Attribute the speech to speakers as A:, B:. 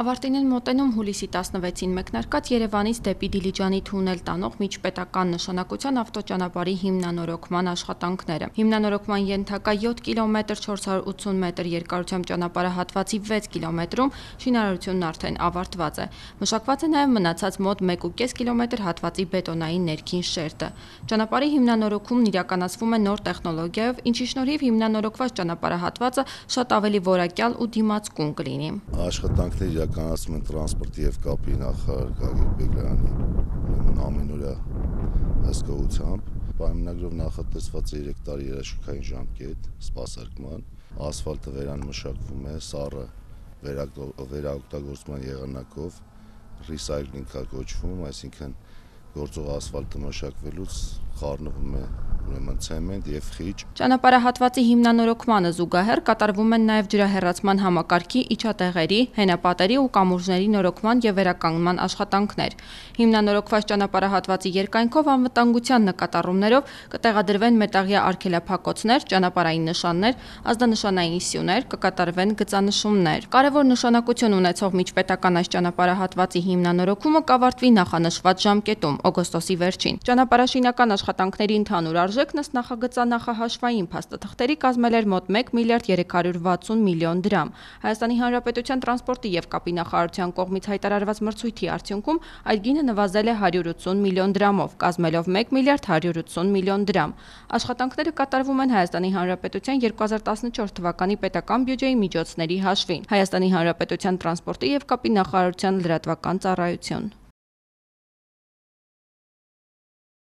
A: Ավարտին են մոտենում հուլիսի 16-ին մեկնարկած Երևանից դեպի Դիլիջանի թունել տանող միջպետական նշանակության ավտոճանապարհի հիմնանորոգման աշխատանքները։ Հիմնանորոգման ենթակա 7 կիլոմետր 480 մետր երկարությամբ ճանապարհահատվածի 6 կիլոմետրում շինարարությունն արդեն ավարտված է։ Մշակված է նաև մնացած մոտ 1,5 կիլոմետր հատվածի բետոնային ներքին շերտը։ Ճանապարհի հիմնանորոգումն իրականացվում է նոր տեխնոլոգիայով, ինչի շնորհիվ հիմնանորոգված ճանապարհահատվածը շատ ավելի որակյալ ու դիմացկուն կլինի։
B: Աշխատանքները իրականացվում են տրանսպորտի եւ կապի նախարար Գագիկ Բեգլարյանի ամենօրյա հսկողությամբ։ Պայմանագրով նախատեսված է 3 տարի երաշխիքային ժամկետ սպասարկման, ասֆալտը վերանմշակվում է, սառը վերաօգտագործման եղանակով recycling կոչվում, այսինքն գործող ասֆալտը մշակվելուց խառնվում է ցեմենտ եւ խիճ։
A: Ճանապարհահատվածի հիմնանորոգմանը զուգահեռ կատարվում են նաև ջրահեռացման համակարգի, իջատեղերի, հենապատերի ու կամուրջների նորոգման եւ վերականգնման աշխատանքներ։ Հիմնանորոգված ճանապարհահատվածի երկայնքով անվտանգության նկատառումներով կտեղադրվեն մետաղյա արգելափակոցներ, ճանապարհային նշաններ, ազդանշանային սյուներ, կկատարվեն գծանշումներ։ Կարևոր նշանակություն ունեցող միջպետական այս ճանապարհահատվածի հիմնանորոգումը կավարտվի նախանշված ժամկետում՝ օգոստոսի վերջին։ Ճանապարհաշինական աշխատանքների ընդհանուր արժեքն ըստ նախագծանախահաշվային փաստաթղթերի կազմել էր մոտ 1 միլիարդ 360 միլիոն դրամ։ Հայաստանի Հանրապետության տրանսպորտի եւ կապի նախարարության կողմից հայտարարված մրցույթի արդյունքում այդ գինը նվազել է 180 միլիոն դրամով, կազմելով 1 միլիարդ 180 միլիոն դրամ։ Աշխատանքները կատարվում են Հայաստանի Հանրապետության 2014 թվականի պետական բյուջեի միջոցների հաշվին։ Հայաստանի Հանրապետության տրանսպորտի եւ կապի նախարարության լրատվական ծառայություն։